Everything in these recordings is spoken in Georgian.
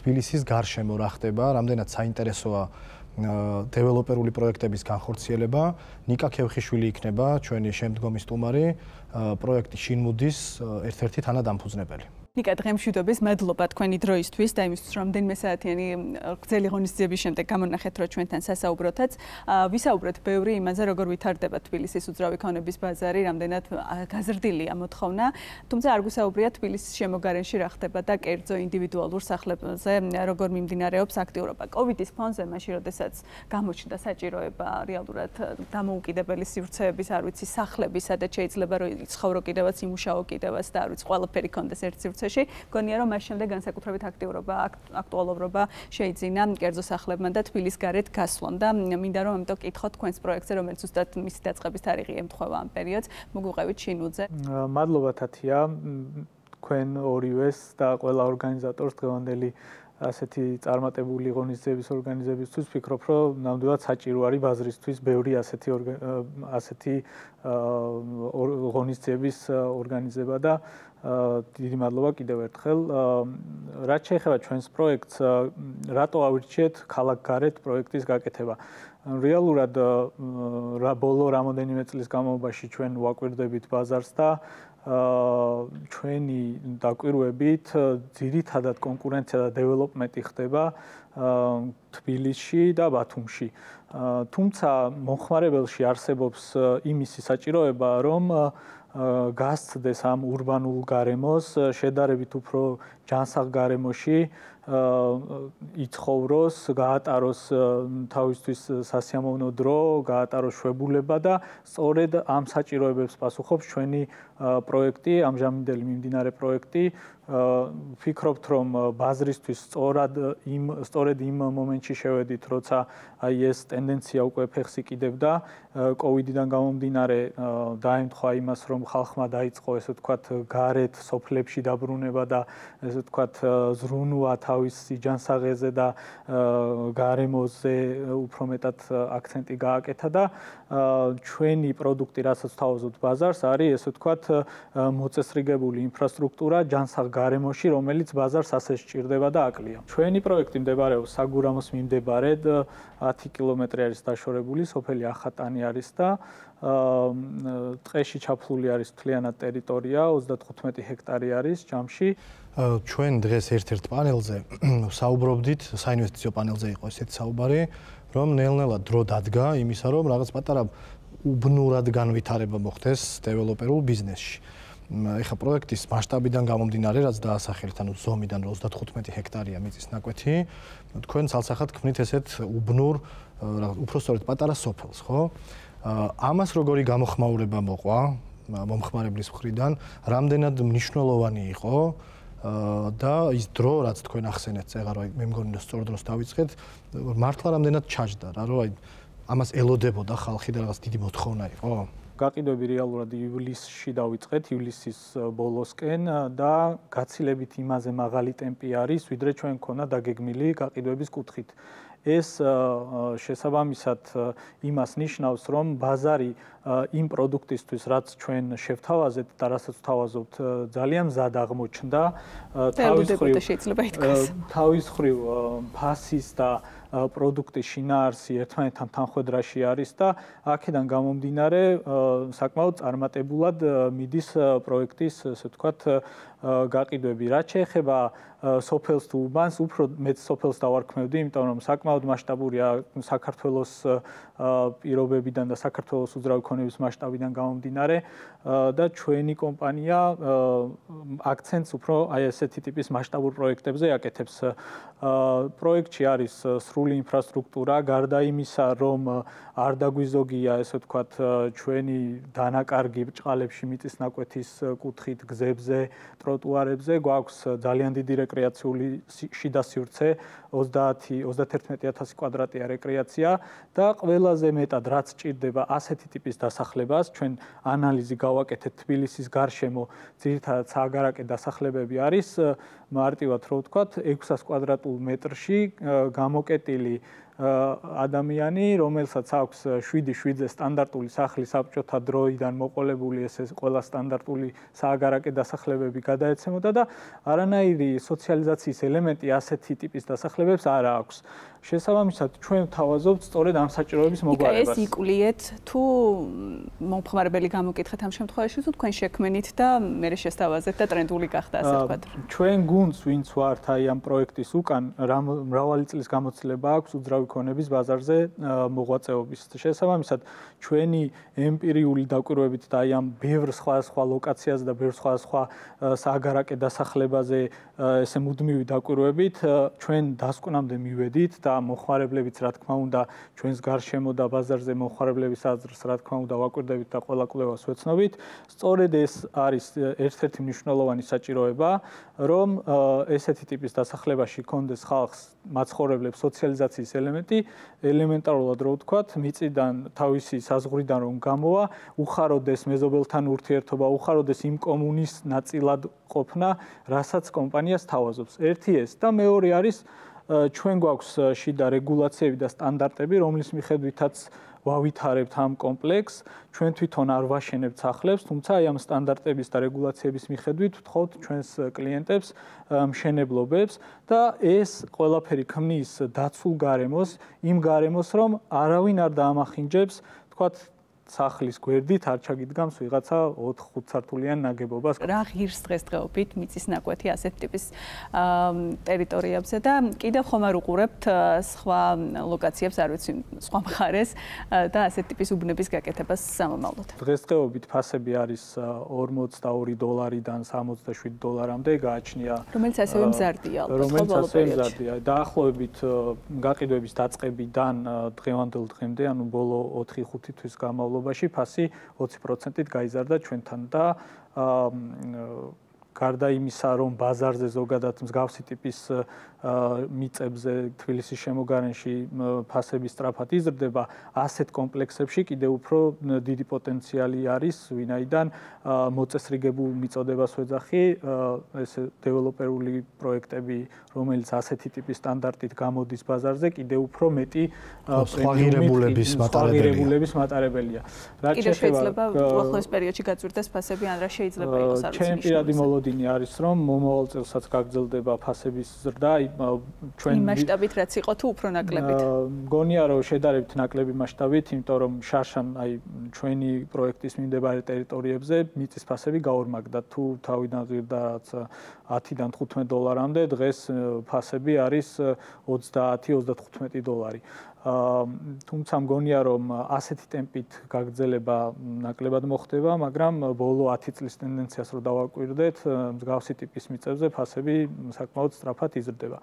თბილისის გარშემო რა ხდება, რამდენად საინტერესოა დეველოპერული პროექტების განხორციელება. ნიკა ქევხიშვილი იქნება ჩვენი შემდგომი სტუმარი, პროექტი შინმუდის ერთ-ერთი თანადამფუძნებელი. ნიკა, დღემშვიდობის, მადლობა თქვენი დროისთვის და იმისთვის, რომ რამდენიმე საათიანი გრძელი ღონისძიების შემდეგ გამონახეთ, რომ ჩვენთან სასაუბროთაც. ვისაუბრეთ ბევრი იმაზე, როგორ ვითარდება თბილისის უძრავი ქონების ბაზარი, რამდენად გაზრდილია მოთხოვნა, თუმცა არ გვისაუბრია თბილისის შემოგარენში რა ხდება და კერძო ინდივიდუალურ სახლებზე როგორ მიმდინარეობს აქტიურობა. კოვიდის ფონზე, მაშინ როდესაც გამოჩნდა საჭიროება რეალურად დამოუკიდებელი სივრცეების, არ ვიცი, სახლების, სადაც შეიძლება რომ იცხოვრო კიდევაც, იმუშაო კიდევაც და არ ვიცი, ყველაფერი კონდეს ერთ სივრცეში. გონია რომ მას შემდეგ განსაკუთრებით აქტიურობა, აქტუალურობა შეიძინა კერძო სახლებმა და თბილის გარეთ გასვლამ და მინდა რომ ამიტომ კითხოთ თქვენს პროექტზე, რომელიც ზუსტად მისი დაწყების თარიღი ემთხვევა ამ პერიოდს, მოგვიყევით შინუძე. მადლობა თათია, თქვენ ორივეს და ყველა ორგანიზატორს დღევანდელი ასეთი წარმატებული ღონისძიების ორგანიზებისთვის ვფიქრობ, რომ ნამდვილად საჭირო არის ბაზრისთვის ბევრი ასეთი ღონისძიების ორგანიზება და დიდი მადლობა კიდევ ერთხელ. რაც შეეხება ჩვენს პროექტს, რატო ავირჩიეთ ქალაქგარეთ პროექტის გაკეთება? რეალურად ბოლო რამოდენიმე წლის განმავლობაში ჩვენ ვაკვირდებით ბაზარს და ჩვენი დაკვირვებით ძირითადად კონკურენცია და დეველოპმენტი ხდება თბილისში და ბათუმში. თუმცა მომხმარებელში არსებობს იმისი საჭიროება, რომ გასცდეს ამ ურბანულ გარემოს, შედარებით უფრო ჯანსაღ გარემოში იცხოვროს, გაატაროს თავისთვის სასიამოვნო დრო, გაატაროს შვებულება და სწორედ ამ საჭიროებებს პასუხობს ჩვენი პროექტი, ამჟამინდელი მიმდინარე პროექტი. ვფიქრობთ, რომ ბაზრისთვის სწორედ იმ მომენტში შევედით, როცა აი ეს ტენდენცია უკვე ფეხს იკიდებდა, კოვიდიდან გამომდინარე დაემთხვა იმას, რომ ხალხმა დაიწყო ესე ვთქვათ გარეთ სოფლებში დაბრუნება და ესე ვთქვათ ზრუნვა თავისი ჯანსაღეზე და გარემოზე უფრო მეტად აქცენტი გააკეთა და ჩვენი პროდუქტი, რასაც თავაზობთ ბაზარს, არის ესე ვთქვათ მოწესრიგებული ინფრასტრუქტურა ჯანსაღ გარემოში, რომელიც ბაზარს ასე სჭირდება და აკლია. ჩვენი პროექტი მდებარეობს საგურამოს მიმდებარედ 10 კილომეტრი არის დაშორებული, სოფელი ახატანი არის და ტყეში ჩაფლული არის მთლიანად ტერიტორია, 35 ჰექტარი არის ჯამში. ჩვენ დღეს ერთ-ერთ პანელზე საუბრობდით, საინვესტიციო პანელზე იყო ესეთი საუბარი, რომ ნელ-ნელა დრო დადგა იმისა, რომ რაღაც პატარა უბნურად განვითარება მოხდეს დეველოპერულ ბიზნესში. ეხა პროექტის მასშტაბიდან გამომდინარე, რაც დაასახელეთ, ანუ ზომიდან 35 ჰექტარია მიწის ნაკვეთი, თქვენ ცალსახად ქმნით ესეთ უბნურ, უფრო სწორედ პატარა სოფელს, ხო? ამას როგორი გამოხმაურება მოყვა მომხმარებლის მხრიდან, რამდენად მნიშვნელოვანი იყო და ის დრო, რაც თქვენ ახსენეთ, ეხლა რა მე მგონი რომ სწორ დროს დავიწყეთ, მართლა რამდენად ჩაჯდა რა, რომ აი ამას ელოდებოდა ხალხი და რაღაც დიდი მოთხოვნა იყო? გაყიდვები რეალურად ივლისში დავიწყეთ, ივლისის ბოლოსკენ და გაცილებით იმაზე მაღალი ტემპი არის, ვიდრე ჩვენ მქონდა დაგეგმილი გაყიდვების კუთხით. ეს შესაბამისად იმას ნიშნავს, რომ ბაზარი იმ პროდუქტისთვის, რაც ჩვენ შევთავაზეთ და რასაც ვთავაზობთ, ძალიან მზად აღმოჩნდა. თავის მხრივ ფასის და პროდუქტის შინაარსი ერთმანეთთან თანხვედრაში არის და აქედან გამომდინარე საკმაოდ წარმატებულად მიდის პროექტის, ასე ვთქვათ, გაყიდვები. რაც შეეხება სოფელს თუ უბანს, უფრო მეც სოფელს დავარქმევდი, იმიტომ რომ საკმაოდ მასშტაბურია საქართველოს პირობებიდან და საქართველოს უძრავი ქონების მასშტაბიდან გამომდინარე და ჩვენი კომპანია აქცენტს უფრო აი ესეთი ტიპის მასშტაბურ პროექტებზე აკეთებს. პროექტში არის სრული ინფრასტრუქტურა, გარდა იმისა, რომ არ დაგვიზოგია, ესე ვთქვათ, ჩვენი დანაკარგი ბრჭყალებში მიწის ნაკვეთის კუთხით, გზებზე, ტროტუარებზე, გვაქვს ძალიან დიდი რეკრეაციული შიდა სივრცე, 30-31000 კვადრატია რეკრეაცია და ყველაზე მეტად რაც ჭირდება ასეთი ტიპის დასახლებას, ჩვენ ანალიზი გავაკეთეთ თბილისის გარშემო, ძირითადად სააგარაკე დასახლებები არის მარტივად რო ვთქვათ 600 კვადრატულ მეტრში გამოკეტილი ადამიანი, რომელსაც აქვს 7-7-ზე სტანდარტული სახლი საბჭოთა დროიდან მოყოლებული ეს ყველა სტანდარტული სააგარაკე დასახლებები გადაეცემოდა და არანაირი სოციალიზაციის ელემენტი ასეთი ტიპის დასახლებებს არ აქვს. შესაბამისად, ჩვენ ვთავაზობთ სწორედ ამ საჭიროების მოგვარებას. ეს იკლიეთ თუ მომხმარებელი გამოკითხეთ ამ შემთხვევაში თუ თქვენ შექმნით და მე შესთავაზეთ და ტრენდული გახდა ასე ვთქვათ. ჩვენ გუნდს ვინც ვართ აი ამ პროექტის უკან მრავალი წლის გამოცდილება აქვს უძრავი ქონების ბაზარზე მოღვაწეობის. შესაბამისად, ჩვენი ემპირიული დაკვირვებით და აი ამ ბევრ სხვადასხვა ლოკაციაზე და ბევრ სხვადასხვა სააგარაკე დასახლებაზე ესე მუდმივი დაკვირვებით ჩვენ დასკვნამდე მივედით და მოხმარებლებიც რა თქმა უნდა ჩვენს გარშემო და ბაზარზე მოხმარებლების აზრს რა თქმა უნდა ვაკვირდებით და ყველა კვლევას ვეცნობით. სწორედ ეს არის ერთ-ერთი მნიშვნელოვანი საჭიროება, რომ ესეთი ტიპის დასახლებაში კონდეს ხალხს მაცხოვრებლებს სოციალიზაციის ელემენტი, ელემენტარულად რო ვთქვათ, მიწიდან თავისი საზღვრიდან რომ გამოვა, უხაროდეს მეზობელთან ურთიერთობა, უხაროდეს იმ კომუნის ნაწილად ყოფნა, რასაც კომპანიას თავაზობს. ერთი ეს და მეორე არის ჩვენ გვაქვს შიდა რეგულაციები და სტანდარტები, რომლის მიხედვითაც ვავითარებთ ამ კომპლექსს, ჩვენ თვითონ არ ვაშენებთ სახლებს, თუმცა აი ამ სტანდარტების და რეგულაციების მიხედვით ვთხოვთ ჩვენს კლიენტებს მშენებლობებს და ეს ყველაფერი ქმნის დაცულ გარემოს, იმ გარემოს, რომ არავინ არ დაამახინჯებს, თქვათ სახლის გვერდით არ ჩაგიდგამს ვიღაცა 4-5 სართულიან ნაგებობას. რა ღირს დღესდღეობით მიწის ნაკვეთი ასეთ ტიპის ტერიტორიებზე და კიდევ ხომ არ უყურებთ სხვა ლოკაციებს, არ ვიცი, სხვა მხარეს და ასეთ ტიპის უბნების გაკეთებას სამომავლოდ. დღესდღეობით ფასები არის $42-დან $67-მდე გააჩნია. რომელიც ასევე მზარდია ალბათ. რომელიც ასევე მზარდია. დაახლოებით გაყიდვების დაწყებიდან დღევანდელ დღემდე, ანუ ბოლო 4-5 თვის განმავლობაში ფასი 20%-ით გაიზარდა ჩვენთან და გარდა იმისა, რომ ბაზარზე ზოგადად მსგავსი ტიპის მიწებზე თბილისის შემოგარენში ფასები სწრაფად იზრდება, ასეთ კომპლექსებში კიდევ უფრო დიდი პოტენციალი არის, ვინაიდან მოწესრიგებულ მიწოდებას ვეძახი, ეს დეველოპერული პროექტები, რომელიც ასეთი ტიპის სტანდარტით გამოდის ბაზარზე, კიდევ უფრო მეტი სხვაღირებულების მატარებელია. კიდევ შეიძლება უახლოეს პერიოდში გაწვირდეს ფასები, ან რა შეიძლება იყოს არ ვიცი. ჩემი პირადი მოლოდინი არის, რომ მომავალ წელსაც გაგრძელდება ფასების ზრდა, ჩვენ იმ მასშტაბით რაც იყო თუ უფრო ნაკლებით. მგონია რომ შედარებით ნაკლები მასშტაბით, იმიტომ რომ შარშან აი ჩვენი პროექტის მიმდებარე ტერიტორიებზე მიწის ფასები გაორმაგდა. თუ თავიდან ზრდა რაც $10-დან $15-მდე, დღეს ფასები არის $20-35. თუმცა მგონია რომ ასეთი ტემპით გაგრძელება ნაკლებად მოხდება, მაგრამ ბოლო 10 წლის ტენდენციას რო დავაკვირდეთ, მსგავსი ტიპის მიწებზე ფასები საკმაოდ სწრაფად იზრდება.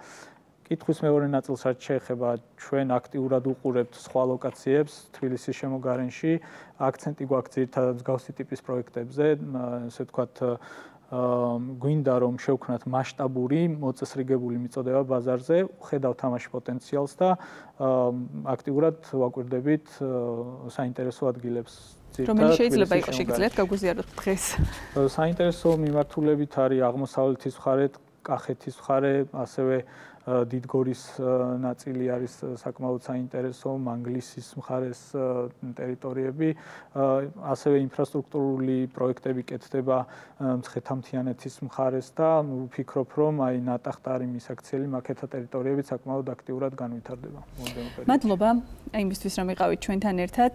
კითხვის მეორე ნაწილს რაც შეეხება, ჩვენ აქტიურად უყურებთ სხვა ლოკაციებს თბილისის შემოგარენში, აქცენტი გვაქვს ძირითადად მსგავსი ტიპის პროექტებზე, ესე ვთქვათ გვინდა რომ შევქნათ მასშტაბური მოწესრიგებული მიწოდება ბაზარზე, ხედავთ ამაში პოტენციალს და აქტიურად ვაკვირდებით საინტერესო ადგილებს. რომელი შეიძლება იყოს შეგიძლიათ გაგვიზიაროთ დღეს? საინტერესო მიმართულებით არის აღმოსავლეთის მხარე, კახეთის მხარე, ასევე დიდგორის ნაწილი არის საკმაოდ საინტერესო, მანგლისის მხარეს ტერიტორიები, ასევე ინფრასტრუქტურული პროექტები კეთდება მცხეთა-მთიანეთის მხარეს და ვფიქრობ, რომ აი ნატახტარი მისაქციელი მაკეთა ტერიტორიები საკმაოდ აქტიურად განვითარდება. მადლობა იმისთვის, რომ იყავით ჩვენთან ერთად.